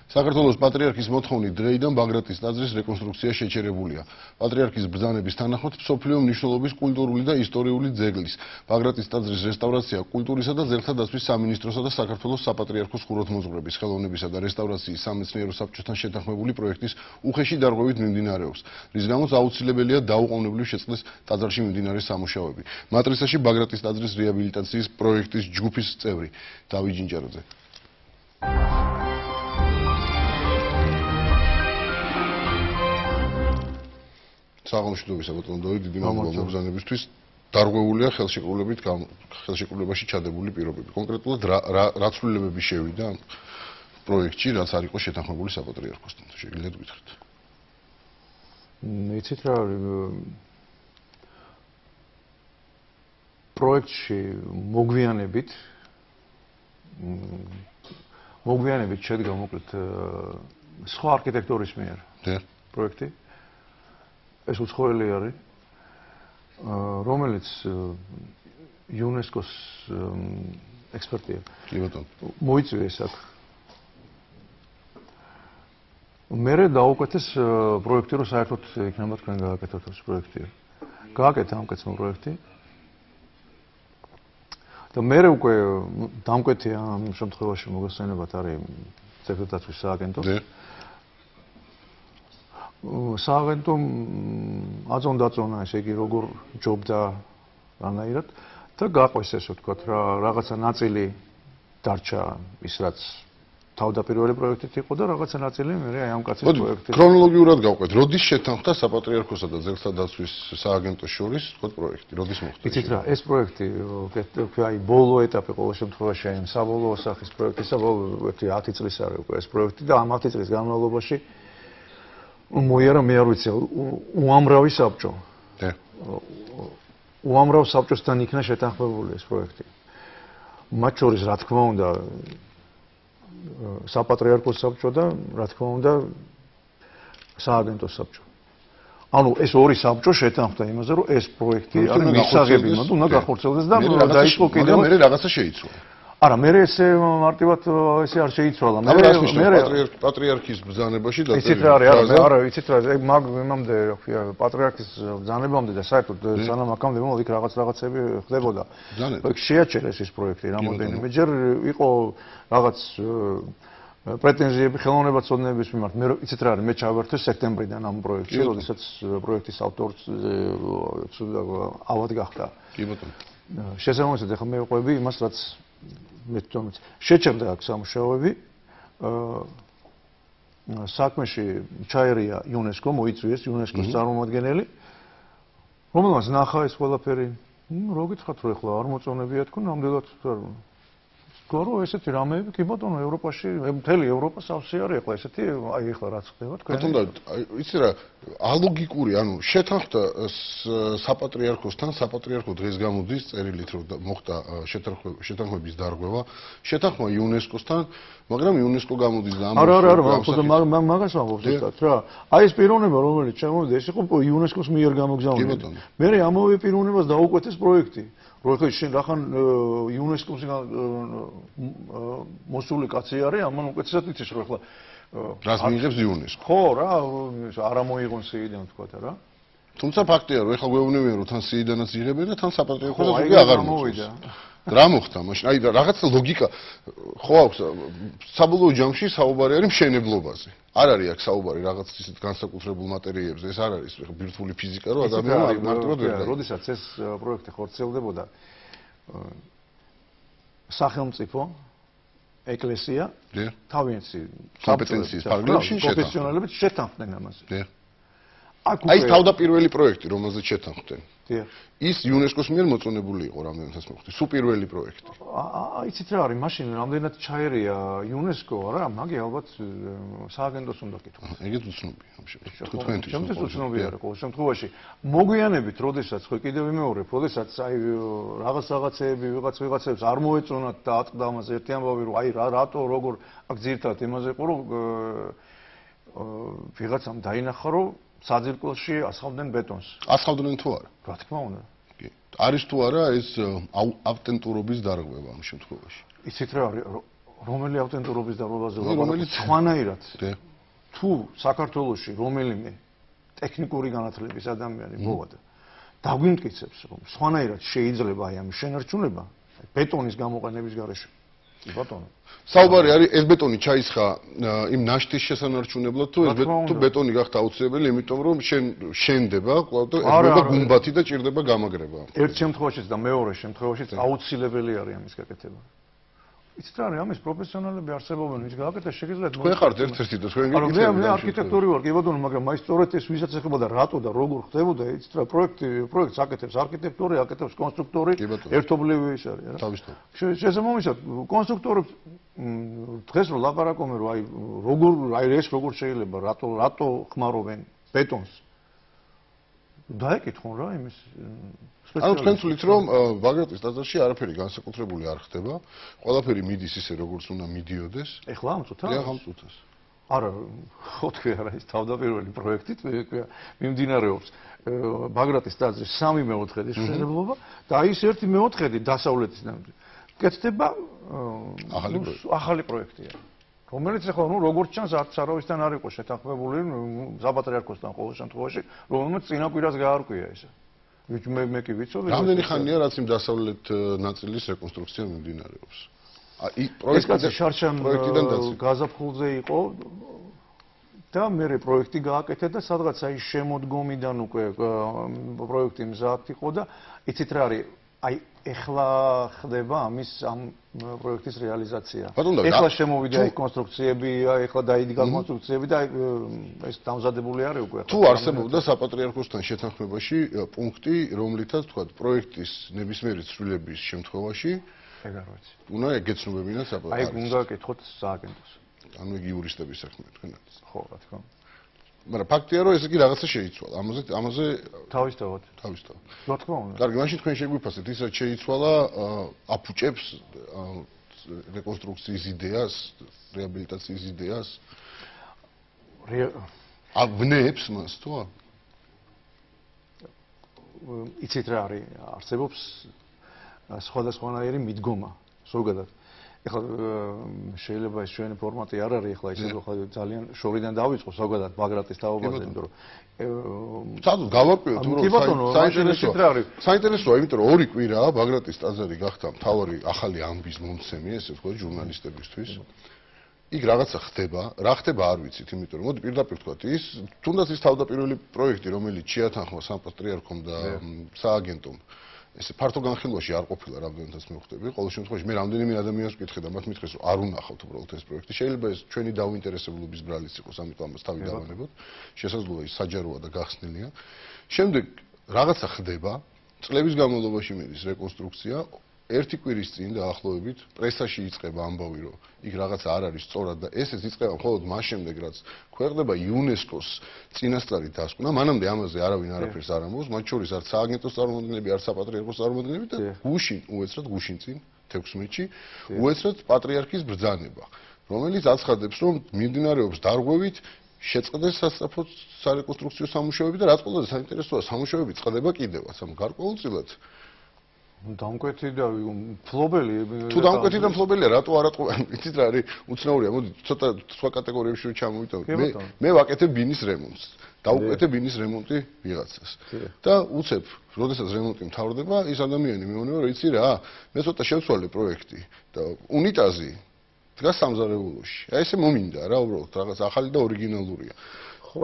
საქართველოს პატრიარქის მოთხოვნით დრეიდან ბაგრატის ტაძრის რეკონსტრუქცია შეჩერებულია. პატრიარქის ბრძანების თანახმად მსოფლიო მნიშვნელობის კულტურული და ისტორიული ძეგლის ბაგრატის ტაძრის რესტავრაცია კულტურისა და ძეგლთა დაცვის სამინისტროსა და საქართველოს საპატრიარქოს ხუროთმოძღვრების ხელოვნებისა და რესტავრაციის სამეცნიერო საბჭოსთან შეთანხმებული პროექტის უხეში დარღვევით მიმდინარეობს, რის გამოც აუცილებელია დაუყოვნებლივ შეწყდეს ტაძარში მიმდინარე სამუშაოები. მატრიცაში ბაგრატის ტაძრის რეაბილიტაციის პროექტის ჯგუფის წევრი დავით ჯინჯარაძე. საღამოშიდობისა ბატონო დავით, დიდი მადლობა მოგზაურობისთვის. დარღვეულია ხელშეკრულებაში ჩადებული პირობები. კონკრეტულად რა ცვლილებები შევიდა პროექტში, რაც არ იყო შეთანხმებული საპატრიარქოსთან. შეგიძლიათ გითხრათ? იცით რა პროექტში მოგვიანებით შედგა მოკლედ სხვა არქიტექტორის მიერ პროექტი. ეს უცხოელი არის, რომელიც იუნესკოს ექსპერტია. კი ბატონო. მოიწვიეს აქ. მერე დაუკეთეს პროექტი, რომ საერთოდ იქნება თქვენ გააკეთოთ ეს პროექტი. გააკეთა ამკაცმო პროექტი. და მერე უკვე დამკვეთი ამ შემთხვევაში მოგესწრებათ არის ძეგლდაცვის სააგენტო. სააგენტომ აწონდა ესე იგი როგორ ჯობდა რანაირად და გაყვეს ესე ვთქვათ რა რაღაცა ნაწილი დარჩა ის რაც თავდაპირველი პროექტით იყო და რაღაცა ნაწილი მე აი ამ კაცის პროექტით. ქრონოლოგიურად გავყვეთ, როდის შეთანხმდა საპატრიარქოსა და ძეგლთა დაცვის სააგენტოს შორის თქო პროექტი, როდის მოხდა? იცით რა, ეს პროექტი აი ბოლო ეტაპი ყოველ შემთხვევაში აი საბოლოო სახის პროექტისა 10 წლის არის უკვე ეს პროექტი და ამ 10 წლის განმავლობაში მოიარა მე არ ვიცი უამრავი საბჭო. უამრავ საბჭოსთან იქნა შეთანხმებული ეს პროექტი. მათ შორის რა თქმა უნდა საპატრიარქოს საბჭო და რა თქმა უნდა სააგენტოს საბჭო. ანუ ეს ორი საბჭო შეთანხმდა იმაზე, რომ ეს პროექტი არის მისაღები, უნდა გახორციელდეს და დაიწყო კიდევ მე რაღაცა შეიცვალა. არა, მე ესე მარტივად ესე არ შეიცვალა. მე პატრიარქის ბრძანებაში და იცით რა არის, არა, იცით რა, იმამდე, რა ქვია, პატრიარქის ბრძანებამდე და საერთოდ სანამ აქამდე მომდ იქ რაღაცები ხდებოდა. შეაჩერეს ეს პროექტი რამოდენიმე ჯერ იყო რაღაც პრეტენზიები ხელოვნებაცოდნეების მიმართ. მე იცით რა არის, მე ჩავერთვე სექტემბრიდან ამ პროექტში, როდესაც პროექტის ავტორი ავად გახდა. კი ბატონო. შესაბამისად ახლა მე ვყვები იმას, რაც მე თვითონ შეჩერდა აქ სამუშაოები. საქმეში ჩაერია იუნესკო, მოიწვიეს იუნესკოს წარმომადგენელი, რომელმაც ნახა ეს ყველაფერი. რო გითხრათ რომ ახლა არ მოწონებია თქო, ნამდვილად გორო ესეთი რამეები კი ბატონო ევროპაში, მთელი ევროპა სავსე არის ახლა ესეთი, აი ახლა რაც ხდება თქვენ. ბატონო, იცი რა, ალოგიკური, ანუ შეთანხმდა საპატრიარქოსთან, საპატრიარქო დღეს გამოდის წერილით რომ მოხდა შეთანხმების დარღვევა, შეთანხმა იუნესკოსთან, მაგრამ იუნესკო გამოდის და არა, მაგას ვამბობ ზუსტად რა. აი ეს პიროვნება რომელიც შემოვიდა, ეს იყო იუნესკოს მიერ გამოგზავნილი. მე ამავე პიროვნებას დაუკვეთეს პროექტი. როცა შენ რახან იუნესკოს მოსული კაცი არის, ამან უკეთესად იცის რომ ახლა რას მიიღებს იუნესკო. ხო რა, არა მოიღონ სიიდან თქვათ რა. თუმცა ფაქტია რომ ახლა გვეუბნებიან რომ თან სიიდანაც იღებენ და თან საპატრიარქოსაც უკვე აღარ მოვიდა. რა მოხდა მაშინ? აი რაღაცა ლოგიკა ხო აქვს საბოლოო ჯამში საუბარი არის მშენებლობაზე. არ არის აქ საუბარი რაღაც ისეთ განსაკუთრებულ მატერიებზე, ეს არ არის ბირთვული ფიზიკა, რომ ადამიანი მარტივად ვერ გაიგებს. როდესაც ეს პროექტი ხორციელდებოდა სახელმწიფო ეკლესია თავიანთი კომპეტენციის ფარგლებში პროფესიონალებით შეთანხმდნენ ამაზე. აი თავდაპირველი პროექტი, რომელზეც შეთანხმდნენ. ის იუნესკოს მიერ მოწონებული იყო რამდენადაც მოხდა. სუ პირველი პროექტი. იცით რა არის, მაშინ რამდენად ჩაერია იუნესკო, არა, მაგი ალბათ სააგენტოს უნდა კითხო. ეგეც უცნობია ამ შემთხვევაში. ჩემთვის უცნობია რა ყოველ შემთხვევაში. მოგვიანებით, როდესაც ხო კიდევ ვიმეორებ, როდესაც აი რაღაცეები ვიღაცებს არ მოეწონათ და ატყდა ამაზე ერთი ამბავი, რომ აი რატო როგორ აქ ძირთად იმაზე იყო, რომ ვიღაცამ დაინახა, რომ საძირკველში ასხავდნენ ბეტონს. ასხავდნენ თუ არა? რა თქმა უნდა. კი. არის თუ არა ეს ავტენტურობის დარღვევა ამ შემთხვევაში? იცით რა არის, რომელი ავტენტურობის დარღვევაზე ლაპარაკობთ? სხვანაირად. თუ საქართველოში რომელიმე ტექნიკური განათლების ადამიანი მოვადა დაგვიმტკიცებს რომ სხვანაირად შეიძლება აი ამ შენარჩუნება ბეტონის გამოყენების გარეშე. კი ბატონო. საუბარი არის ეს ბეტონი ჩაისხა იმ ნაშთის შესანარჩუნებლად თუ ეს ბეტონი გახდა აუცილებელი იმიტომ რომ შენდება კვლავ და ეძება გუმბათი და ჭირდება გამაგრება. ერთ შემთხვევაშიც და მეორე შემთხვევაშიც აუცილებელი არის ამის გაკეთება. იცით რა არის ამის პროფესიონალები არსებობენ ვის გააკეთეს შეგიძლიათ თქვენ ხართ ერთ-ერთი და თქვენ გიგიცეთ მე არქიტექტორი ვარ კი ბატონო მაგრამ მაინც სწორედ ეს ვისაც ეხება და რატო და როგორ ხდებოდა იცით რა პროექტს აკეთებს არქიტექტორი აკეთებს კონსტრუქტორი ერთობლივი ის არის რა თავისთავად შესაბამისად კონსტრუქტორებს დღეს რო ლაპარაკობენ რომ აი როგორ აი ეს როგორ შეიძლება რატო ხმარობენ ბეტონს დაეკითხონ რა იმის ანუ თქვენ თვლით რომ ბაგრატის ტაძარში არაფერი განსაკუთრებული არ ხდება ყველაფერი მიდის ისე როგორც უნდა მიდიოდეს ეხლა ამ წუთას ამ წუთას არა ხო თქვი არა ის თავდაპირველი პროექტით მიმდინარეობს ბაგრატის ტაძრის 3/4 შესაძლებლობა და ის 1/4 დასავლეთის კეთდება ახალი პროექტია რომელიც ახლა ნუ როგორც ჩანს არც არავისთან არ იყო შეთანხმებული საპატრიარქოსთან ყოველ შემთხვევაში რომელმაც წინა კვირას გაარკვია ესე მე კი ვიცოდი რამდენი ხანია რაც იმ დასავლეთ ნაწილის რეკონსტრუქცია მიმდინარეობს ეს კაცი შარშან გაზაფხულზე იყო და მე პროექტი გააკეთე და სადღაც აი შემოდგომიდან უკვე პროექტი მზად იყო და იცით რა არის აი ეხლა ხდება ამის ამ პროექტის რეალიზაცია. ეხლა შემოვიდა აი კონსტრუქციები, ეხლა დაიდგა კონსტრუქციები და ეს დამზადებული არის უკვე. თუ არსებობდა საპატრიარქოსთან შეთანხმებაში პუნქტი, რომლითაც თქვა პროექტის ნებისმიერი ცვლილების შემთხვევაში ეგ არ ვიცი. უნდა ეგეცნობებინა საპატრიარქოს. აი უნდა გეკითხოთ სააგენტოს. ანუ იგი იურისტების საქმე თქვენ არის. ხო, რა თქმა უნდა. მაგრამ ფაქტია რომ ეს იგი რაღაცა შეიცვალა. ამაზე თავისთავად. რა თქმა უნდა. კარგი, მაშინ თქვენ შეგვიფასეთ ის რაც შეიცვალა აფუჭებს რეკონსტრუქციის იდეას, რეაბილიტაციის იდეას. ავნებს მას თუ? იცით რა არის? არსებობს სხვადასხვანაირი მიდგომა, ზოგადად. ეხლა შეიძლება ეს ჩვენი ფორმატი არ არის ეხლა ისე ძალიან შორიდან დავიწყო ზოგადად ბაგრატის თაობაზე იმიტომ რომ სადუ გავარკვიოთ საინტერესოა იმიტომ რომ 2 კვირაა ბაგრატის ტაძარი გახდა მთავარი ახალი ამბის მომცემი ესე ვთქვათ ჟურნალისტებისთვის იქ რაღაცა ხდება რა ხდება არ ვიცით იმიტომ რომ მოდი პირდაპირ ვთქვათ ის თუნდაც ის თავდაპირველი პროექტი რომელიც შეათანხმა საპატრიარქომ და სააგენტომ ეს ფართო განხილვაში არ ყოფილა რამდენადაც მე ვხვდები. ყოველ შემთხვევაში მე რამდენიმე ადამიანს ვკითხე და მათ მითხრეს რომ არ უნახავთ უბრალოდ ეს პროექტი. შეიძლება ეს ჩვენი დაუინტერესებლობის ბრალიც იყოს, ამიტომ ამას თავი დავანებოთ. შესაძლოა ის საჯაროა და გახსნილია. შემდეგ რაღაცა ხდება, წლების განმავლობაში მიდის რეკონსტრუქცია. ერთი კვირის წინ დაახლოებით პრესაში იწყება ამბავი რომ იქ რაღაცა არ არის სწორად და ესეც იწყება მხოლოდ მას შემდეგ რაც ქვეყნდება იუნესკოს წინასწარი დასკვნა მანამდე ამაზე არავინ არაფერს არ ამბობს მათ შორის არც სააგენტოს წარმომადგენლები არც საპატრიარქოს წარმომადგენლები და გუშინ უეცრად გუშინ წინ 16-ში უეცრად პატრიარქის ბრძანება რომელიც აცხადებს რომ მიმდინარეობს დარღვევით შეწყდეს სასწრაფო სარეკონსტრუქციო სამუშაოები და რაც ყველაზე საინტერესოა სამუშაოები წყდება კიდევაც ამ გარკვეულწილად დამკვეთი და ფლობელი თუ დამკვეთი და ფლობელია რატო არ ატყობენ იცით რა არის უცნაურია მოდი ცოტა სხვა კატეგორიებში ჩამოვიტანოთ მე ვაკეთებ ბინის რემონტს დავუკეთე ბინის რემონტი ვიღაცას და უცებ როდესაც რემონტი მთავრდება ის ადამიანი მეუბნება რომ იცი რა მე ცოტა შევცვალე პროექტი და უნიტაზი დგას სამზარეულოში აი ესე მომინდა რა უბრალოდ რაღაც ახალი და ორიგინალურია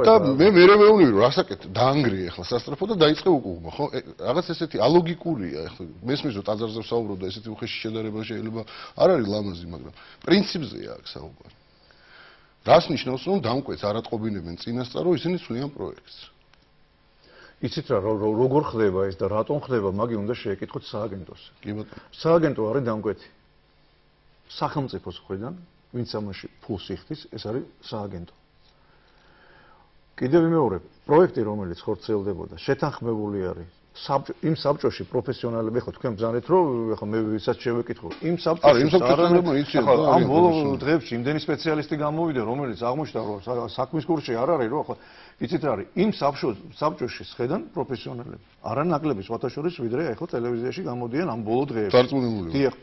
და მე მეუბნები რომ რასაკეთე დაანგრიე ახლა სასწრაფო და დაიწყე უკუღმა ხო რაღაც ესეთი ალოგიკურია ახლა მესმის რომ ტაძარზე ვსაუბრობ და ესეთი უხეში შედარება შეიძლება არ არის ლამაზი მაგრამ პრინციპზეა აქ საუბარი რას ნიშნავს რომ დამკვეთს არ ატყობინებენ წინასწარ რომ ისინი ცვლიან პროექტს იცით რა როგორ ხდება ეს და რატომ ხდება მაგი უნდა შეეკითხოთ სააგენტოს კი ბატონო სააგენტო არის დამკვეთი სახელმწიფოს მხრიდან ვინც ამაში ფულს იხდის ეს არის სააგენტო კიდევ მეორე პროექტი რომელიც ხორციელდებოდა შეთანხმებული არის იმ საბჭოში პროფესიონალები ხო თქვენ ბრძანეთ რომ ხო მე ვისაც შევეკითხო იმ საბჭოში ამ ბოლო დღეებში იმდენი სპეციალისტი გამოვიდა რომელიც აღმოჩნდა რომ საქმის კურსში არ არის რომ ხო იცით რა არის იმ საბჭოში შედან პროფესიონალები არანაკლები სხვათა შორის ვიდრე ხო ტელევიზიაში გამოდიან ამ ბოლო დღეებში დარწმუნებული დიახ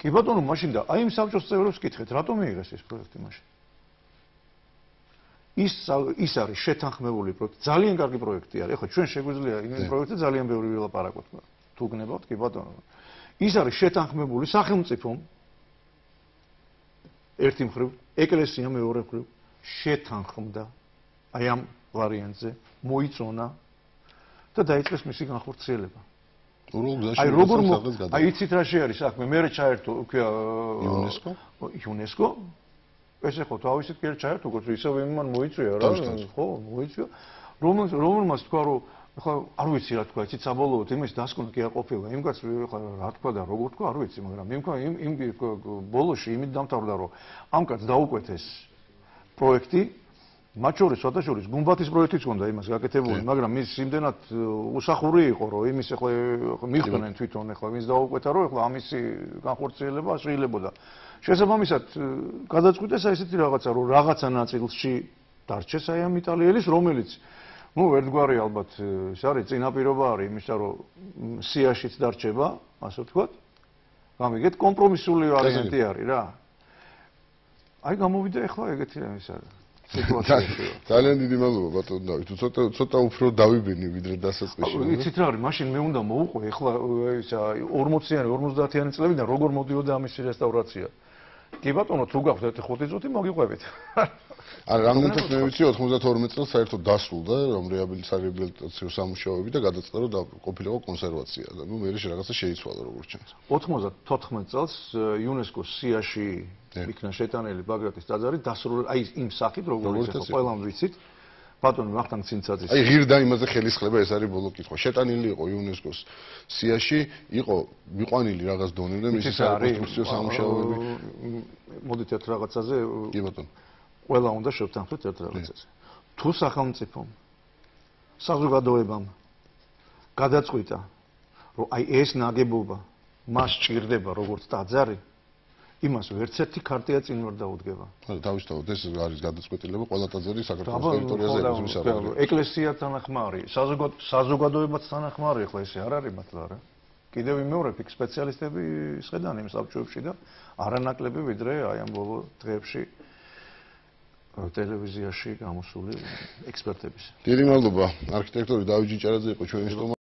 კი ბატონო, მაშინ და აი იმ საბჭოს წევრებს კითხეთ, რატომ მიიღეს ეს პროექტი მაშინ? ის არის შეთანხმებული პროექტი, ძალიან კარგი პროექტი არის. ეხლა ჩვენ შეგვიძლია იმ პროექტზე ძალიან ბევრი ვილაპარაკოთ. თუ გნებავთ, კი ბატონო. ის არის შეთანხმებული სახელმწიფომ ერთი მხრივ, ეკლესია მეორე მხრივ შეთანხმდა აი ამ ვარიანტზე, მოიწონა და დაიწყეს მისი განხორციელება. აი როგორ აი იცით რა არის საქმე? მე ჩაერთო UNESCO ეს ხო თავისით კი ჩაერთო, ისევ იმან მოიწვია რა, ხო, მოიწვია. რომელმაც თქვა რომ ახლა არ ვიცი რა თქვა, იცით საბოლოოდ იმის დასკვნა კი არ ყოფილა. იმ კაცს ახლა რა თქვა და როგორ თქვა არ ვიცი, მაგრამ იმ ბოლოში იმით დამთავრდა რომ ამ კაცს დაუკვეთეს პროექტი, მათ შორის შოთაშორის გუმბათის პროექტიც ჰქონდა იმას გაკეთებული, მაგრამ მის იმდენად უსახური იყო, რომ იმის ახლა მიხვდნენ თვითონ ახლა მის დაუკვეთა, რომ ახლა ამისი განხორციელება შეიძლება. შესაბამისად გადაწყვიტეს აი ესეთი რაღაცა, რომ რაღაცა ნაწილში დარჩეს აი ამ იტალიელის, რომელიც ერთგვარი ალბათ ეს არის წინაპირობა არის იმისა, რომ სიაშიც დარჩება, ასე ვთქვათ. გამიგეთ, კომპრომისული ვარიანტი არის რა. აი გამოვიდა ახლა ეგეთი ის არის. ძალიან დიდი მადლობა ბატონო დავით. ცოტა უფრო დავიბინი ვიდრე დასაწყისში. იცით რა არის, მაშინ მე უნდა მოვუყვე ახლა ისა 40-იანი, 50-იანი წლებიდან როგორ მოდიოდა ამის რესტავრაცია. კი ბატონო, თუ გაქვთ 5 წუთი მოგიყვებით. ან რამდენად მე ვიცი 92 წელს საერთოდ დასრულდა რომ რეაბილიტაციო სამუშაოები და გადაწყდა რომ ყოფილიყო კონსერვაცია და ნუ მე რაღაცა შეიცვალა როგორც ჩანს. 94 წელს იუნესკოს სიაში იქნა შეტანილი ბაგრატის ტაძარი დასრულდა აი იმ სახით როგორც ახლა ყველამ ვიცით. ბატონო ვახტანგ ცინცაძის აი ღირდა იმაზე ხელისხლება ეს არის ბოლო კითხვა. შეტანილი იყო იუნესკოს სიაში, იყო მიყვანილი რაღაც დონემდე მისი საკონსტრუქციო სამუშაოები. მოდით ერთ რაღაცაზე კი ბატონო. ყველა უნდა შევთანხმდეთ ერთ რაღაცაზე. თუ სახელმწიფომ საზოგადოებამ გადაწყვიტა, რომ აი ეს ნაგებობა მას ჭირდება როგორც ტაძარი, იმას ვერცერთი ქარტია წინ ვერ დაუდგება. თავისთავად ეს არის გადაწყვეტილება ყველა ტაძარი საქართველოს ტერიტორიაზე ეზოს არის. ეკლესიაც თანახმარი, საზოგადოებაც თანახმარი, ახლა ესე არ არის მართლა რა. კიდევ ვიმეორებ, იქ სპეციალისტები ისხედან იმ საბჭოებში და არანაკლები ვიდრე აი ამ ბოლო დღეებში ტელევიზიაში გამოსული ექსპერტების. დიდი მადლობა. არქიტექტორი დავით ჭიჭარაძე იყო ჩვენი სტუმარი.